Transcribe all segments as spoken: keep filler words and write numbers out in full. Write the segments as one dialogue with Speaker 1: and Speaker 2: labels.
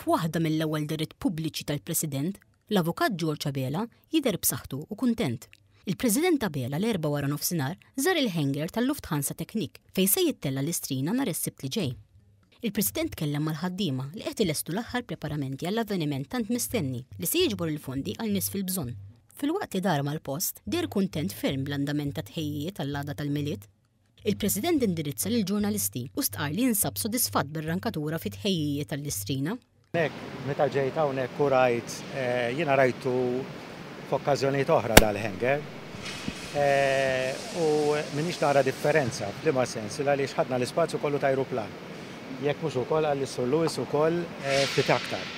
Speaker 1: F'waħda mill-ewwel dehriet pubbliċi tal-President, l-Avukat George Abela jidher b'saħħtu u kuntent. Il-President Abela l-Erbgħa wara nofsinhar żar il-hangar tal-Lufthansa Technik fejn se jittella l-Istrina nhar is-Sibt li ġej. Il-President tkellem mal-ħaddiema li qed ilestu l-aħħar preparamenti għall-avveniment tant mistenni li se jiġbor il-fondi għal nies fil-bżonn. Filwaqt li dar mal-post, deher kuntent ferm bl-andament ta' tħejjijiet għall-għada tal-Milied. Il-President indirizza lil ġurnalisti u stqar li jinsab sodisfatt bir-rankatura fit-tħejjijiet għall-Istrina.
Speaker 2: Nek, meta ġejt hawnhekk u rajt, eh, jiena rajtu f'okkażjonijiet oħra dal-hangar. Eh, u m'iniex nara differenza, f'liema sens, għaliex ħadna l-ispazju kollu ta' ajruplan. Jekk mhux ukoll għal Sur Lewis ukoll eh, ftit aktar.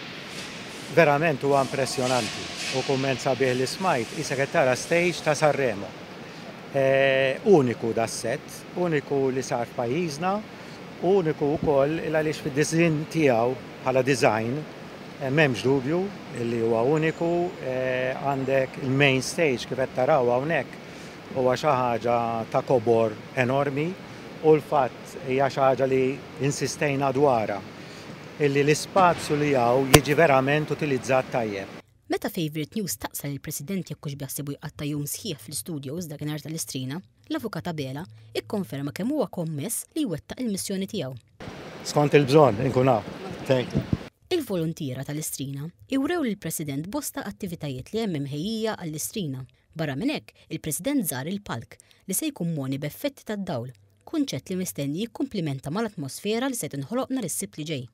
Speaker 2: Verament huwa impressjonanti u kumment sabiħ li smajt, qisek qed tara stage ta' Sanremo. Uniku das-set, uniku li sar f'pajjiżna, uniku wkoll għaliex fid-design tiegħu bħala design eh, m'hemmx dubju li huwa uniku. eh, għandek il-main stage kif qed taraw hawnhekk, huwa xi ħaġa ta' kobor enormi u l-fatt hija xi ħaġa li insistejna dwarha illi l-ispazju li hawn jiġi verament utilizzat tajjeb.
Speaker 1: Meta Favorite News staqsa lill-President jekk hux beħsiebu jqatta' jum sħiħ fl-studios dakinhar tal-Istrina, l-Avukat Abela ikkonferma kemm huwa kommess li jwettaq il-missjoni tiegħu.
Speaker 2: Skont il-bżonn inkun hawn. Thank you.
Speaker 1: Il-volontiera tal-Istrina iwrew lill-President bosta attivitajiet li hemm imħejjija għall-Istrina. Barra minn hekk, il-President żar il-palk li se jkun mogħni b'effetti tad-dawl, kunċett li mistenni jikkumplimenta mal-atmosfera li se tinħoloq nhar is-Sibt li ġej.